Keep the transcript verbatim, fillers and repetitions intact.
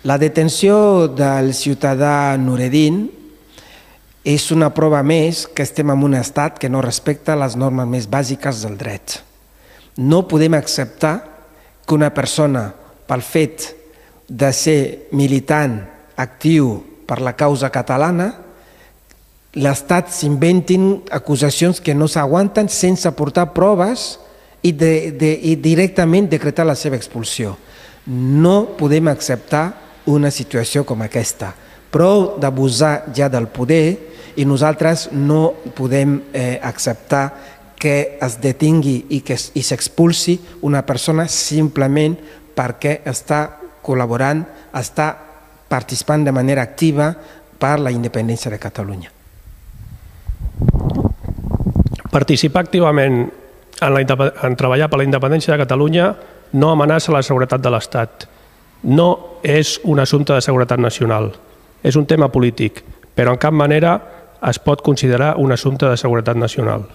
La detenció del ciutadà Noureddin és una prova més que estem en un estat que no respecta les normes més bàsiques del dret. No podem acceptar que una persona, pel fet de ser militant actiu per la causa catalana, l'Estat s'inventin acusacions que no s'aguanten sense aportar proves i, de, de, i directament decretar la seva expulsió. No podem acceptar una situació com aquesta. Prou d'abusar ja del poder i nosaltres no podem eh, acceptar que es detingui i que i s'expulsi una persona simplement perquè està col·laborant, està participant de manera activa per la independència de Catalunya. Participar activament en, la, en treballar per la independència de Catalunya no amenaça la seguretat de l'Estat. No és un assumpte de seguretat nacional. És un tema polític, però en cap manera es pot considerar un assumpte de seguretat nacional.